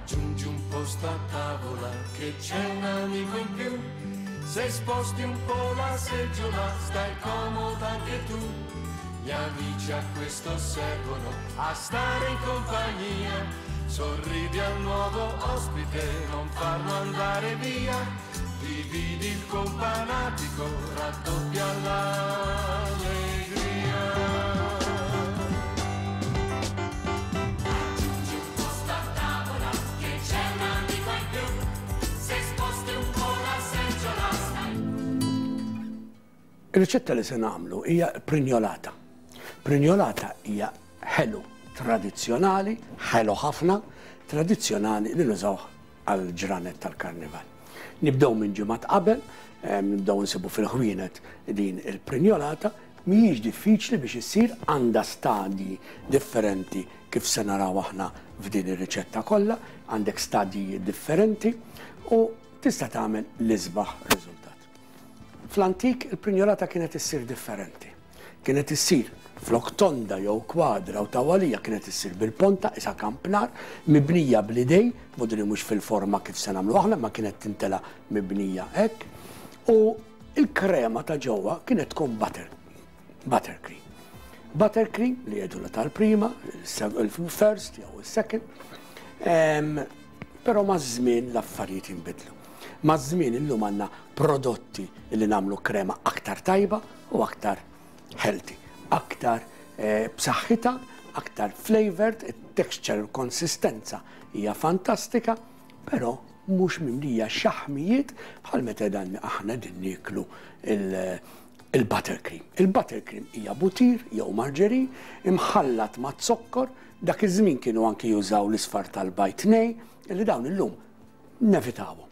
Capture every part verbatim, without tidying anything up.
Aggiungi un posto a tavola che c'è un amico in più. Se sposti un po' la seggiola stai comoda anche tu. Gli amici a questo servono, a stare in compagnia. Sorridi al nuovo ospite, non farlo andare via. Dividi il companatico, raddoppia l'allegria. Aggiungi un posto a tavola che c'è un amico in più. Se sposti un po' la seggiola stai. Ir-riċetta li se nagħmlu hija prinjolata. Prinjolata hija ħelu tradizzjonali, ħelu ħafna, tradizzjonali li nużawh għal ġranet tal-karnival. Nibdew minn ġimgħat qabel, nibdew nsibu fil-ħwienet din il-prinjolata, mhijiex diffiċli biex issir, għandha stadji differenti kif se naraw aħna f'din ir-riċetta kollha, għandek stadji differenti u tista' tagħmel l-isbaħ riżultat. Fl-antik il-prinjolata kienet issir differenti. Kienet issir flok tonda jew kwadra u tawalija, kienet issir bil-ponta, isa kampnar, mibnija bl-idej, modri mhux fil-forma kif se nagħmlu aħna, ma kienet tintela mibnija hekk, u il-krema ta' ġewwa kienet tkun butter, buttercream. Buttercream li jgħidulha tal-prima, il-first jew il-second, però maż-żmien l-affarijiet jinbidlu. Maż-żmien illum għandna prodotti li nagħmlu krema aktar tajba u aktar healthy, aktar eh, b'saħħitha, aktar flavored, it-texture, il-konsistenza hija fantastika, però mhux mimlija xaħmijiet bħal meta dan aħna din nieklu il-buttercream. Il-buttercream hija butir jew marġerin imħallat ma' zokkor, dak iż-żmien kienu anki jużaw l-isfar tal-bajd nej, li dawn illum nevitawhom.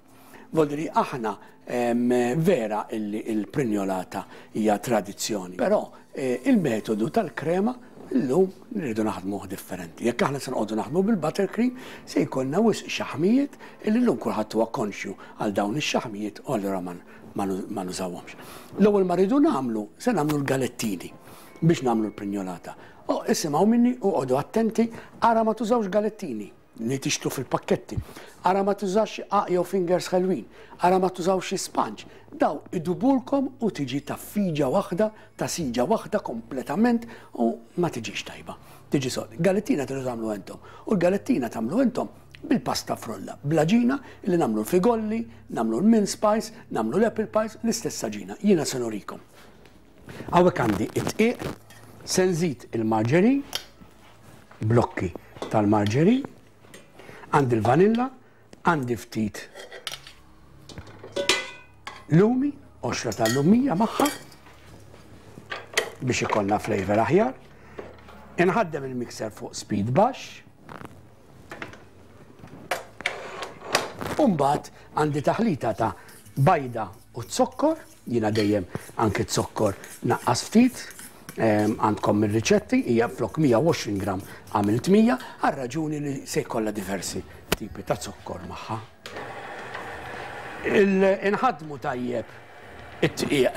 Voldiri aħna vera illi il-prinjolata hija tradizzjoni, però eh, il-metodu tal-krema illum nridu naħdmuh differenti. Jekk aħna se noqogħdu naħdmu bil-buttercream se jkollna wisq xaħmijiet illi llum kulħadd huwa konxju għal dawn ix-xaħmijiet u allura ma nużawhomx. L-ewwel ma rridu nagħmlu se nagħmlu l-galettini biex nagħmlu l-prinjolata. O isimgħu minni u qogħdu attenti, ara ma tużawx galettini li tixtru fil-pakketti. Ara ma tużax qaq jew fingers ħelwin, ara ma tużawx sponge. Daw idubulkom u tiġi ta' fiġa waħda, ta' siġa waħda kompletament u ma tiġix tajba. Tiġi sod. Galettina tridu tagħmlu intom. U l-galettina tagħmlu intom bil-pasta frolla, bl-għaġina li nagħmlu l-figolli, nagħmlu l-mince pies, nagħmlu l-apple pies, l-istess għaġina. Jiena se nurikom. Hawnhekk għandi it-dqiq, se nżid il-marġerin, blokki tal-marġerin, għandi l-vanilla, għandi ftit lumi, qoxra tal-lumija magħha, biex ikollna flavor aħjar. Inħaddem il-mixer fuq speed baxx. U mbagħad għandi taħlita ta' bajda u zokkor, jiena dejjem anke zokkor naqqas ftit, għandkom ir-riċetti, hija flok mija u għoxrin gram għamilt mija, għal raġuni li se jkollha diversi tipi ta' zokkor magħha. Inħadmu tajjeb it-tqiq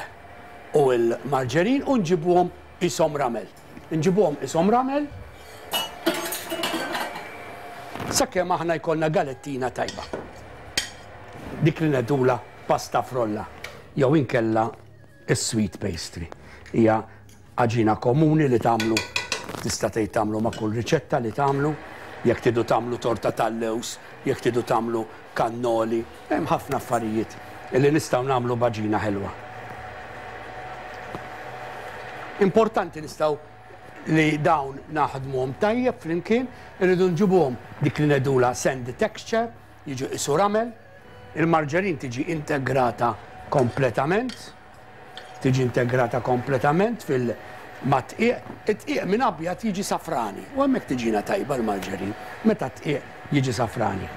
u l-marġerin u nġibuhom isom ramel. Nġibuhom isom ramel sakemm aħna jkollna galettina tajba. Dik li ngħidulha pasta frolla jew inkella is-sweet pastry. Hija għaġina komuni li tagħmlu, tista' tgħid tagħmlu ma' kull riċetta li tagħmlu, jekk tridu tagħmlu torta tal-lewż, jekk tridu tagħmlu kannoli, hemm ħafna affarijiet li nistgħu nagħmlu b'għaġina ħelwa. Importanti nistgħu li dawn naħdmuhom tajjeb flimkien, irridu nġibuhom dik li ngħidulha sandy texture, jiġu qisu ramel, il-marġerin tiġi integrata kompletament, tiġi integrata kompletament fil-matqiq, it-tqiq minn abjad jiġi safrani, u hemmhekk tiġina tajba l-marġerin, meta t-tqiq jiġi safrani.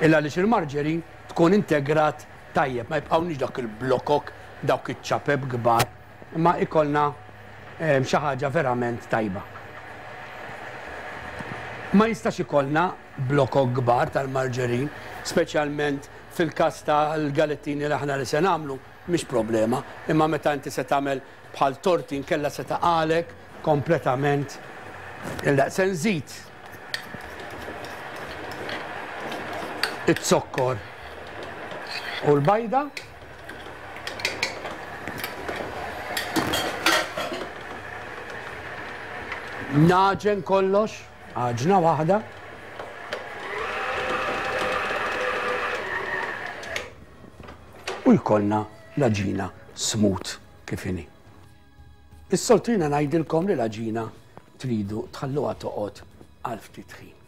Illa għaliex il-marġerin tkun integrat tajjeb, ma jibqgħunix dak il-blokok, dawk iċ-ċapep kbar, imma ikollna, ehm, xi ħaġa verament tajba. Ma jistax ikollna blokok kbar tal-marġerin, speċjalment fil-każ tal-galettini li aħna li se nagħmlu, mhix problema, imma meta inti se tagħmel bħal torti nkella se taqalek kompletament. Illa se nżid Iz-zokkor u l-bajda. Naġen kollox, għaġna waħda. U jkollna l-għaġina smooth kif inhi. Is-soltu jiena ngħidilkom li l-għaġina tridu tħalluha toqgħod għal ftit ħin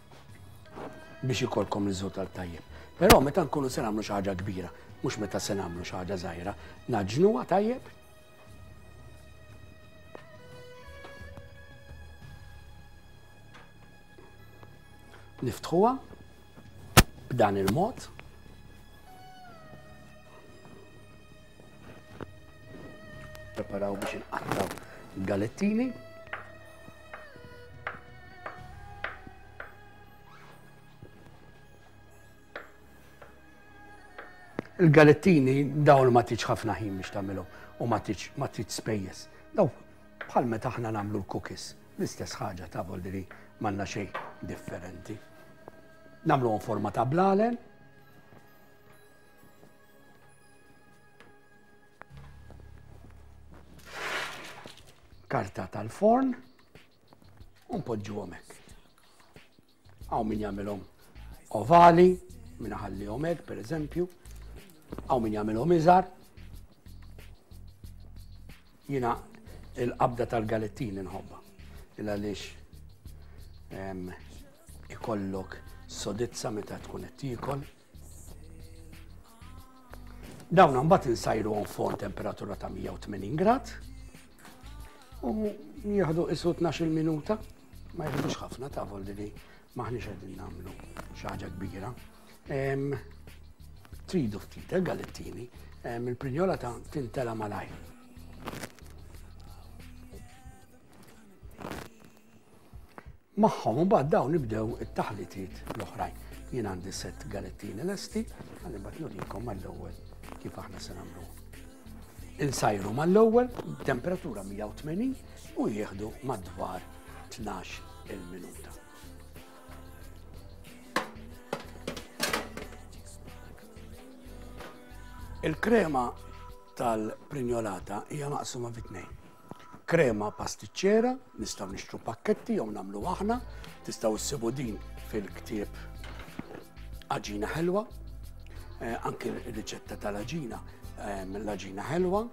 biex ikolkom riżultat tajjeb. Però meta nkunu se nagħmlu xi ħaġa kbira, mhux meta se nagħmlu xi ħaġa żgħira, naġnuha tajjeb. Niftħuha b'dan il-mod. Preparaw biex inqattaw galettini. Il-galettini dawn ma tiġ ħafna ħin biex tagħmilhom u ma tiġ ma tiġ spejjeż. Daw bħal meta aħna nagħmlu l-cookies, l-istess ħaġa ta' voldiri m'għandna xejn differenti. Nagħmluhom forma ta' blalen. Karta tal-forn u npoġġuhom hekk. Hawn min jagħmilhom ovali, min iħallihom hekk pereżempju. Hawn min jagħmilhom iżgħar. Jiena il-qabda tal-galettini nħobbha. Il għaliex ikollok sodizza meta tkun qed tiekol. Dawn imbagħad insajruhom forn temperatura ta' mija u tmenin grad u jieħdu isu tnax-il minuta, ma jieħdux ħafna ta' voldiri maħniex qegħdin nagħmlu xi ħaġa kbira. Tridu ftit il-galettini, il-prinjola ta' tintela malajr. Magħhom imbagħad dawn nibdew it-taħlitiet l-oħrajn. Jien għandi sett galettini lesti, għalli mbagħad nurikom mal-ewwel kif aħna se nagħmlu. Insajru mal-ewwel temperatura mija u tmenin u jieħdu madwar tnax il-minuta. Il-krema tal-prinjolata hija maqsuma fi tnejn. Krema pastiċċera, nistgħu nixtru pakketti jew nagħmlu aħna, tistgħu issibu din fil-ktieb Għaġina Ħelwa, eh, anke r-riċetta tal-għaġina, eh, l-għaġina ħelwa,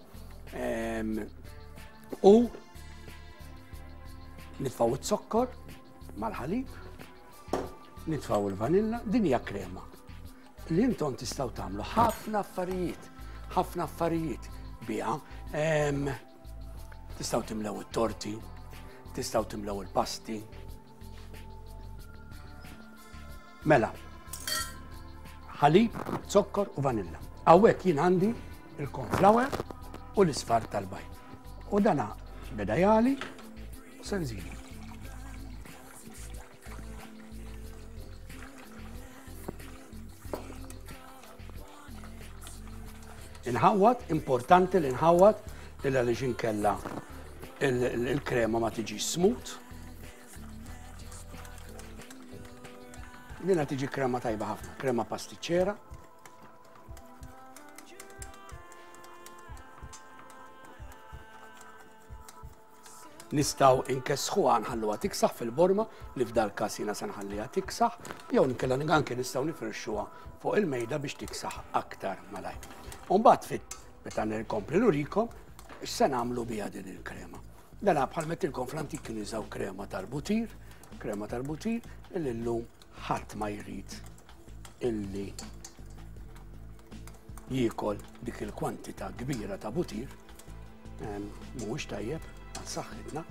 eh, u nitfgħu iz-zokkor mal-ħalib, nitfgħu il-vanilla, din hija krema li intom tistgħu tagħmlu ħafna affarijiet, ħafna affarijiet biha. Tistgħu timlew it-torti, tistgħu timlew il-pasti. Mela, ħalib, zokkor u vanilla. Hawnhekk jien għandi il-cornflour u l-isfar tal-bajd. U dana beda jali u se nżidu. Inħawwad, importanti li nħawwad, illa li xinkella il-krema ma tiġi smooth. Dina tiġi krema tajba ħafna, krema pastiċċera. Nistgħu inkessħuha nħalluha tiksaħ fil-borma, li f'dal każ jiena se nħalliha tiksaħ, jew inkella anke nistgħu nifirxuha fuq il-mejda biex tiksaħ aktar malajr. U mbagħad fit meta nkompli nurikom x'se nagħmlu biha din il-krema. Dana bħal mettilkom fl-antik kienu jużaw krema tal-butir, krema tal-butir illi llum ħadd ma jrid illi jiekol dik il-kwantità kbira ta' butir, mhuwiex tajjeb għal saħħitna,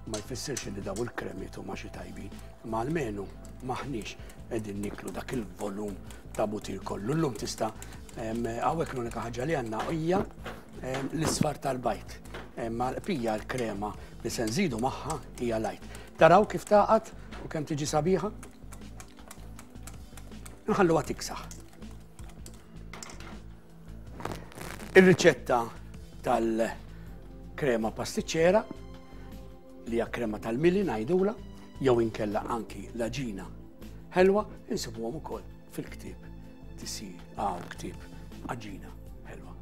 ma jfissirx li daw il-kremiet huma xi tajbin, imma almenu maħniex qegħdin niklu dak il-volum ta' butir kollu. Llum tista' hawnhekk l-unika ħaġa li għandna hija l-isfar tal-bajd. Ma l-pija l-krema li se nżidu magħha hija lajt. Taraw kif taqgħad u kemm tiġi sabiħa? Nħalluha tiksaħ. Ir-riċetta tal-krema pastiċċera li hija krema tal-mili ngħidula, jew inkella anki l-għaġina ħelwa insibuhom ukoll fil-ktieb tisir għaw ktieb Għaġina Ħelwa.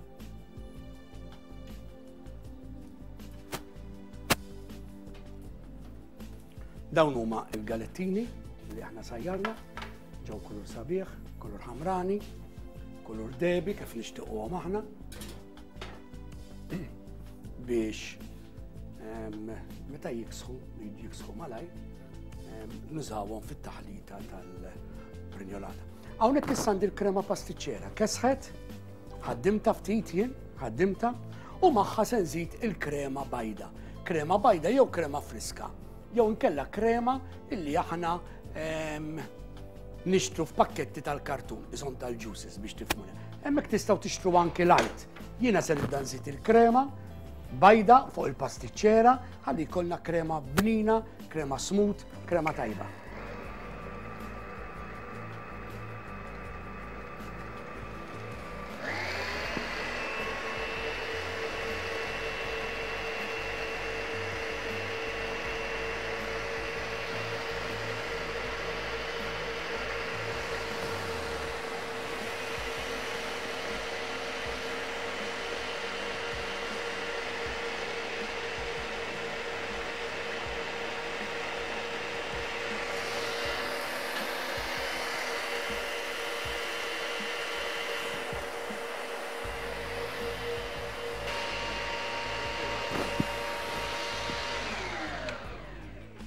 Dawn huma il-galettini li aħna sajjarna, ġew kulur sabiħ, kulur ħamrani, kulur debi kif nixtiequhom aħna biex meta jiksħu, jiksħu malajr, nużawhom fit-taħlita tal-prinjolata. Hawnhekk issa għandi l-krema pastiċċera, kesħet, ħaddimta ftit jien, ħaddimta, u magħha se nżid il-krema bajda. Krema bajda jew krema friska, jew inkella krema illi aħna nixtru f'pakketti tal-kartun, iżon tal-juices biex tifhmuna. Hemmhekk tistgħu tixtru anki light. Jiena se nibda nżid il-krema bajda fuq il-pastiċċera ħalli jkollna krema bnina, krema smooth, krema tajba.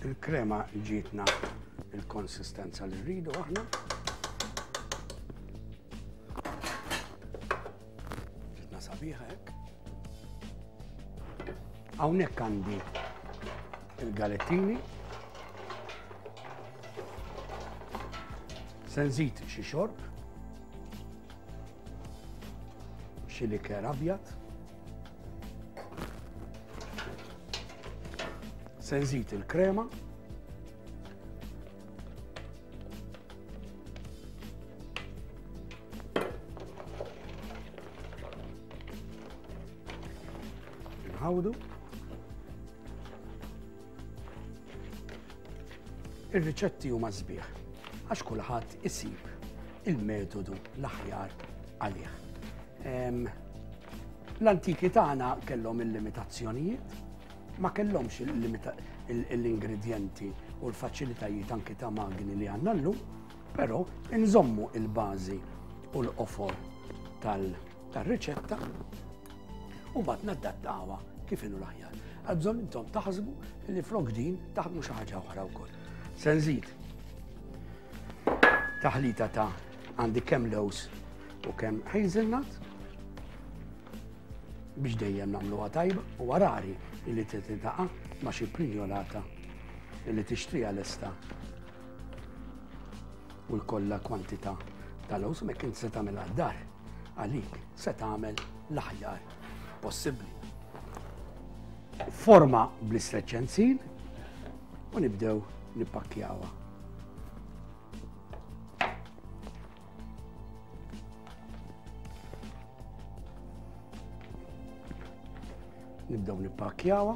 Il-krema ġietna il-konsistenza li rridu aħna. Ġietna sabiħa hekk. Hawnhekk għandi il-galettini. Se nżid xi xorb, xi liker abjad. Se nżid il-krema. Nħawdu. Ir-riċetti huma sbieħ għax kulħadd isib il-metodu l-aħjar għalih. L-antiki tagħna kellhom il-limitazzjonijiet, ma kellhomx l-ingredienti u l-faċilitajiet anki ta' magni li għandna llum, però nżommu il-bażi u l-qofor tal-riċetta u mbagħad nadattawha kif inhu l-aħjar. Għal bżonn intom taħsbu li flok din taħdmu xi ħaġa oħra wkoll. Se nżid taħlita ta' għandi kemm lewż u kemm hazelnut biex dejjem nagħmluha tajba u rari li titaqa' ma' xi prinjolata li tixtriha lesta u jkollha kwantità ta' lewż, mek inti se tagħmilha d-dar għalik se tagħmel l-aħjar possibbli. Forma bl-istreċenzin u nibdew nippakkjawha. Nibdew nippakkjawha,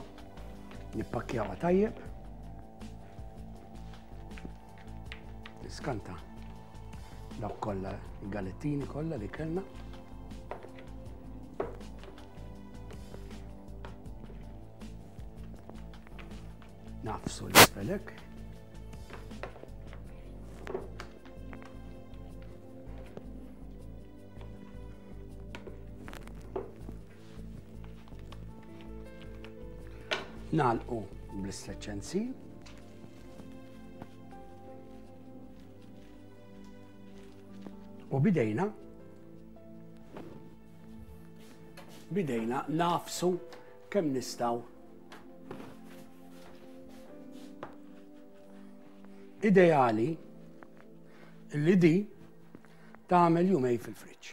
nippakkjawha tajjeb. Niskanta dawk kollha il-galettini kollha li kellna. Nafsu l-isfelek. Nagħlqu bl-istreċenzil. U bidejna bidejna nafsu kemm nistgħu. Ideali li di tagħmel jumej fil-friġġ.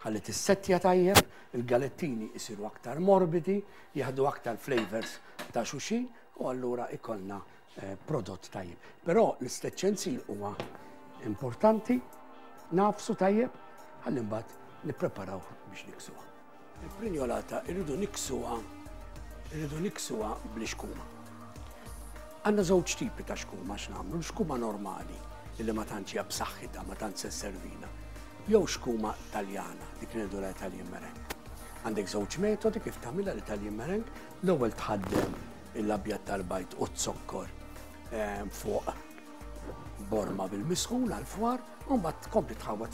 Ħalli tissettja tajjeb, il-galettini jisiru aktar morbidi, jieħdu aktar flavors ta' xulxin u allura ikollna eh, prodott tajjeb. Però l-istreċenzil huwa importanti, nafsu tajjeb, ħalli mbagħad nippreparaw biex niksuha. Il-prinjolata irridu niksuha, irridu niksuha bl-ixkuma. Għandna żewġ tipi ta' xkuma x'nagħmlu, l-xkuma normali illi ma tantx hija b'saħħitha, ma tantx se sservina. Jew xkuma Taljana, dik ngħidu l-Italian meringue. Għandek żewġ metodi kif tagħmilha l-Italian meringue. L-ewwel tħaddem l-abjad tal-bajd u z-zokkor fuq borma bil-misħun għal-fwar, u mbagħad tkompli tħawwad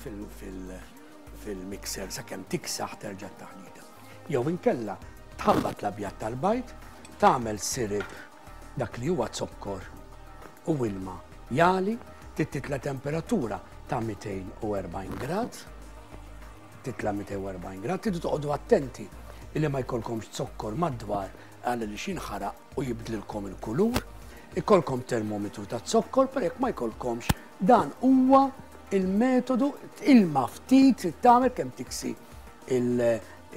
fil-mixer sakemm tiksaħ terġa' taħlita. Jew inkella tħabbat l-abjad tal-bajd, tagħmel sirip dak li huwa zokkor u ilma jali, titla temperatura ta' mitejn u erbgħin grad, titla mitejn u erbgħin grad, tridu toqgħodu attenti illi ma jkollkomx zokkor madwar għal li xinħaraq u jibdlilkom il-kulur, ikolkom termometru ta' zokkor, per jekk ma jkollkomx, dan huwa il-metodu, ilma ftit trid tagħmel kemm tiksi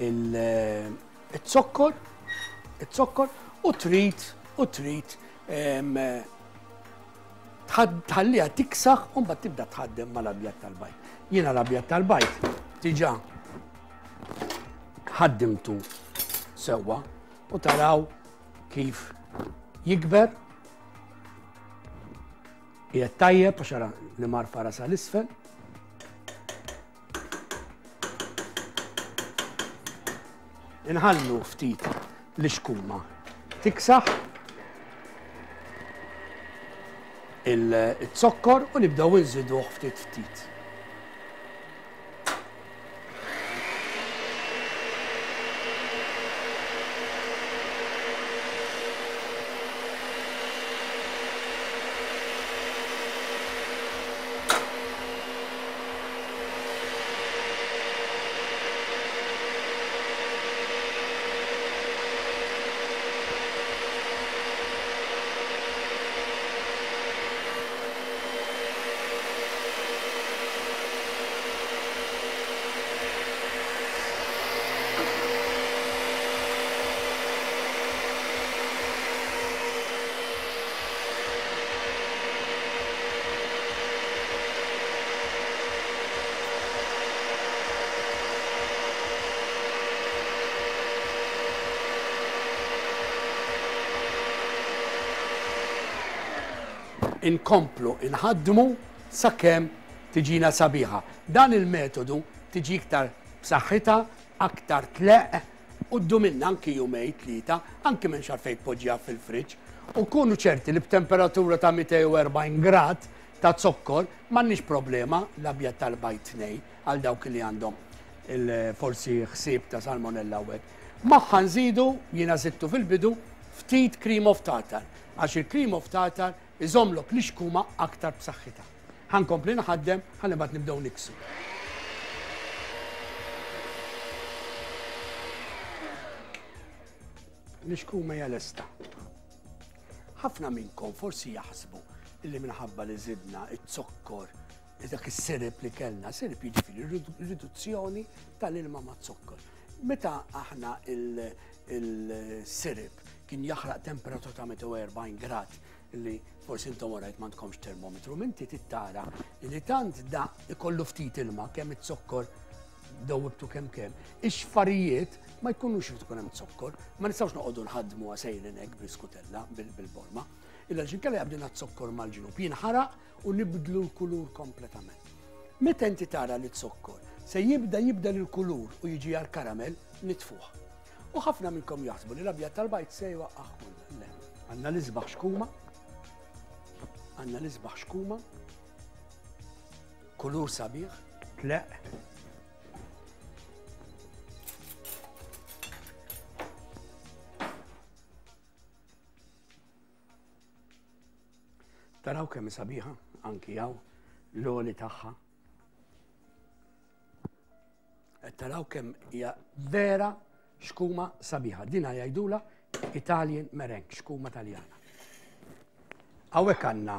il-zokkor, il-zokkor u trid, u trid, em, tħalliha tiksaħ u mbagħad tibda tħaddem mal-abjad tal-bajd. Jiena l-abjad tal-bajd diġà ħaddimtu sewwa u taraw kif jikber. Qiegħed tajjeb għax ara li mar fara sal-isfel. Inħallu ftit l-ixkuma tiksaħ il-zokkor u nibdew inżiduh ftit ftit. Inkomplu inħaddmu sakemm tiġina sabiħa. Dan il-metodu tiġi iktar b'saħħitha, aktar tleq, u ddumilna anki jumejn tlieta, anki minn xar fejn tpoġġiha fil-friġġ. U kunu ċerti li b'temperatura ta' mitejn u erbgħin grad ta' zokkor m'għandniex problema l-abjad tal-bajd tnej għal dawk li għandhom il-forsi ħsieb ta' salmonella u hekk. Magħha nżidu, jiena żidtu fil-bidu, ftit cream of tartar, għax il-cream of tartar iżomlok l-ixkuma aktar b'saħħitha. Ħankompli naħaddem, ħalli mbagħad nibdew niksu. L-ixkuma hija lesta. Ħafna minnkom forsi jaħsbu illi minħabba li żidna iz-zokkor, dak is-sirip li kellna, sirip jiġifieri riduzzjoni tal-ilma ma' zokkor. Meta aħna il-sirip kien jaħraq temperatura ta' mitejn u erbgħin grad, li forsi intom orajt m'għandkomx termometru, minti tittara li tant da ikollu ftit ilma kemm iz-zokkor dawwibtu kemm kemm, ix-xfarijiet ma jkunux irid ikun hemm zokkor, ma nistgħux noqogħdu nħaddmu sejrin hekk bl-iskutella bil-borma, illa x'inkella jaqbdilna z-zokkor mal-ġnub, jinħaraq u nibdlu l-kulur kompletament. Meta inti tara li z-zokkor se jibda jibdel il-kulur u jiġi għal karamell, nitfuh. U ħafna minnkom jaħsbu li l-abjad tal-bajd se jwaqqaħ kollha. Le, għandna l-isbaħ xkuma, għandna l-isbaħ xkuma, kulur sabiħ, tleq. Taraw kemm sabiħa, anki hawn l-għoli tagħha. Qed taraw kemm hija vera xkuma sabiħa. Dina jgħidula Italian meringue, xkuma Taljana. Hawnhekk għandna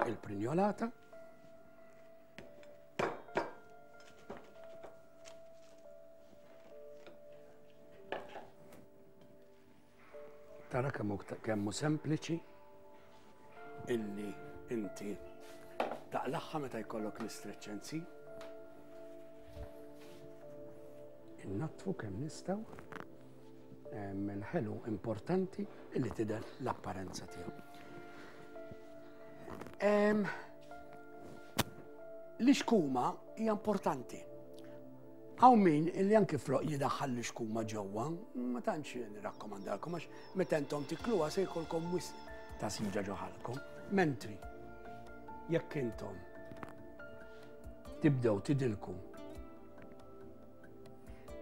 il-prinjolata. Tara kemm hu kemm hu sempliċi illi inti taqlaħħa meta jkollok l-istreċenzi. Innatfu kemm nistgħu. Il-ħelu importanti illi tidher l-apparenza tiegħu. L-ixkuma hija importanti. Hawn min illi anki floq jidaħħal l-ixkuma ġewwa, ma tantx nirrakkomandalkom għax meta intom tikluha se jkollkom wisq ta' siġa ġo ħalkom. Mentri jekk intom tibdew tidilku,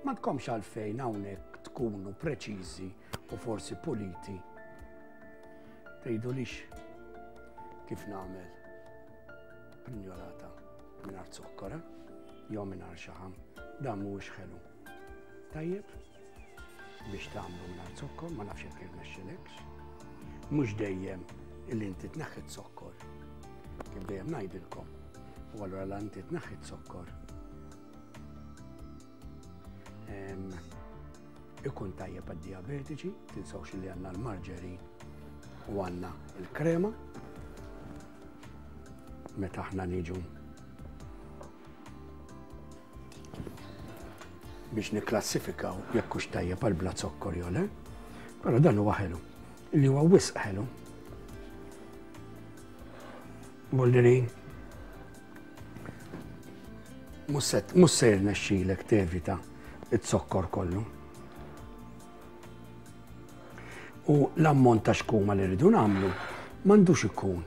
ma tkomx għalfejn hawnhekk tkunu preċiżi u forsi puliti. Tgħidulix kif nagħmel prinjolata mingħajr zokkor, eh? Jew mingħajr xaħam, dan mhuwiex ħelu. Tajjeb biex tagħmlu mingħajr zokkor, ma nafx jekk irnexxilekx. Mhux dejjem illi inti tneħħi zokkor. Kif dejjem ngħidilkom. U allura la inti tneħħi zokkor. Ikun tajjeb għad-diabetiċi, tinsewx li għandna l-marġerin u għandna l-krema. Meta aħna niġu biex nikklassifikaw jekk hux tajjeb għal bla zokkor jew le, però dan huwa ħelu, li huwa wisq ħelu. Boldiri, mhux se jirnexxilek tevita z-zokkor kollu. U l-ammont ta' xkuma li rridu nagħmlu m'għandux ikun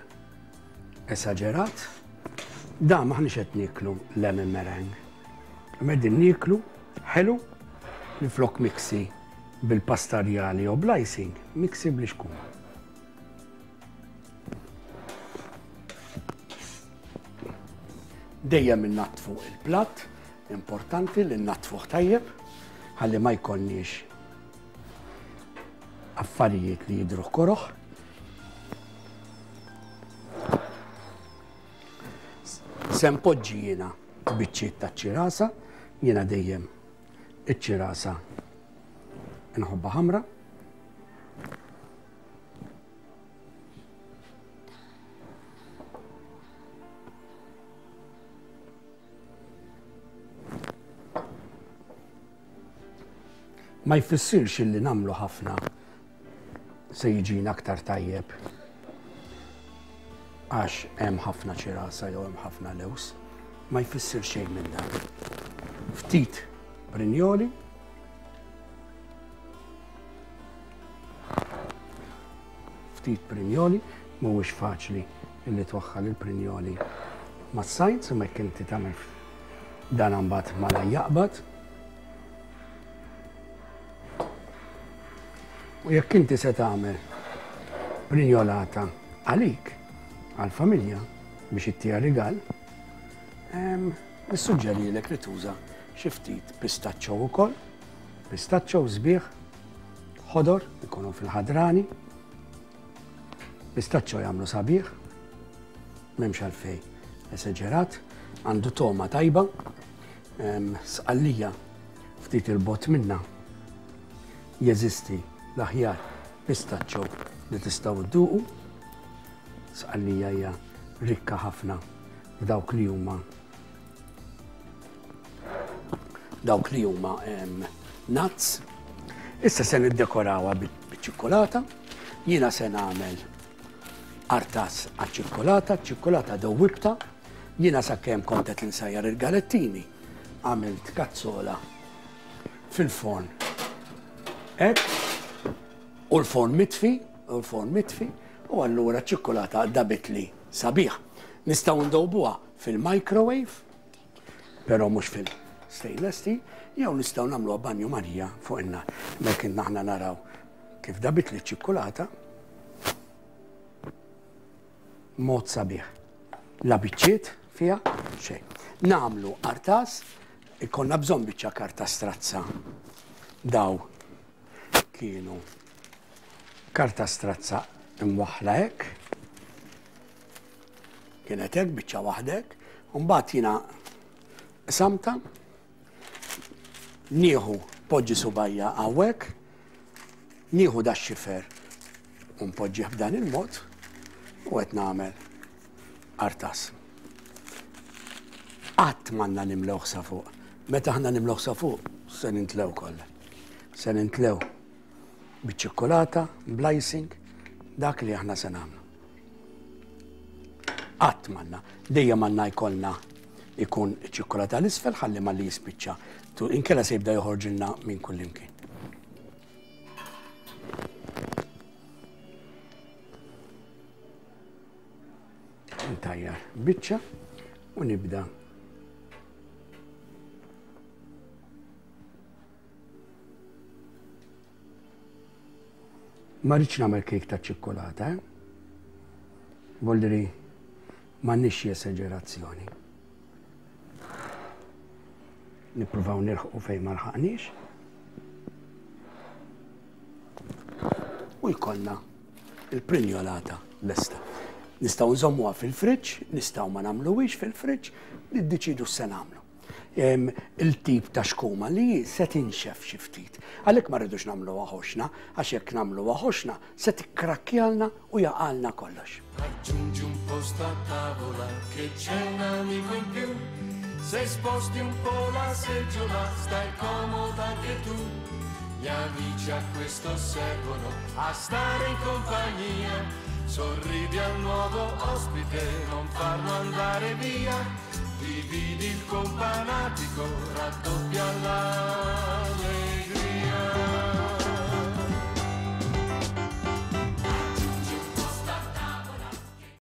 esaġerat. Da maħniex qed nieklu lemon meringue. Qegħdin nieklu ħelu li flok miksi bil-pastarjali jew bl-icing, miksi bl-ixkuma. Dejjem innaddfu il-platt, importanti li nnaddfuh tajjeb, ħalli ma jkollniex affarijiet li jidhru koroħ. Se npoġġi jiena biċċiet ta' ċirasa, jiena dejjem iċ-ċirasa nħobbha ħamra. Ma jfissirx illi nagħmlu ħafna se jiġina aktar tajjeb għax hemm ħafna ċirasa jew hemm ħafna lews, ma jfissir xejn minn dan. Ftit prinjoli, ftit prinjoli, mhuwiex faċli illi twaħħal il-prinjoli mas-sajt, imma jekk inti tagħmel dan imbagħad malaj jaqbad. U jekk inti se tagħmel prinjolata għalik, għall-familja, biex ittiha rigal, nissuġġerilek li tuża xi ftit pistaccio wkoll, pistaccio sbieħ, ħodor, ikunu fil-ħadrani. Pistaccio jagħmlu sabiħ, m'hemmx għalfejn esaġerat, għandu toma tajba, sqallija ftit il-bot minna jeżisti l-aħjar pistaccio li tistgħu dduqu. Sqallija hija rikka ħafna f'dawk li huma dawk li huma nuts. Issa se niddekorawha biċ-ċikkulata. Jiena se nagħmel artas għaċ-ċikkulata, ċikkulata dewwibta. Jiena sakemm kont qed insajjar il-galettini, għamilt kazzola fil-forn. Hekk, u l-forn mitfi, u l-forn mitfi, u allura ċ-ċikkulata dabitli sabiħ. Nistgħu ndewbuha fil-microwave, però mhux fil-stainless steel, jew nistgħu nagħmluha banju Marija fuq in-nar. Mek aħna naraw kif dabitli ċ-ċikkulata mod sabiħ. La biċċiet fiha xejn. Nagħmlu artas, ikonna bżonn biċċa karta strazza. Daw kienu karta strazza imwaħħla hekk. Kienet hekk biċċa waħdek, u mbagħad jiena samta, nieħu poġġi subajja hawnhekk, nieħu da xifer u npoġġih b'dan il-mod u qed nagħmel artas. Qatt m'għandna nimlew sa fuq. Meta aħna nimlew sa fuq, se nintlew kollha. Se nintlew biċ-ċikkulata, bl-icing, dak li aħna se nagħmlu. Qatt m'għandna, dejjem għandna jkollna ikun ċikkulata l-isfel ħalli malli jispiċċa. Inkella se jibda joħorġilna minn kullimkien. Ntajjar biċċa u nibda. Ma rridx nagħmel kejk ta' ċikkulata, eh? Voldiri m'għandniex xi esagerazzjoni. Nippruvaw nilħqu fejn ma lħaqniex. U jkollna il-prinjolata lesta. Nistgħu nżommuha fil-friġġ, nistgħu ma nagħmluhiex fil-friġġ, niddeċidu x'se nagħmlu. Il-tip ta' xkuma li se tinxef xi ftit. Għalhekk ma rridux nagħmluha ħoxna, għax jekk nagħmluha ħoxna se tikkrakkjalna u jaqalna kollox. Aggiungi un posto a tavola che c'è un amico in più. Se sposti un po' la seggiola stai comoda anche tu. Gli amici a questo servono, a stare in compagnia. Sorridi al nuovo ospite, non farlo andare via. Dividi il companatico, raddoppia la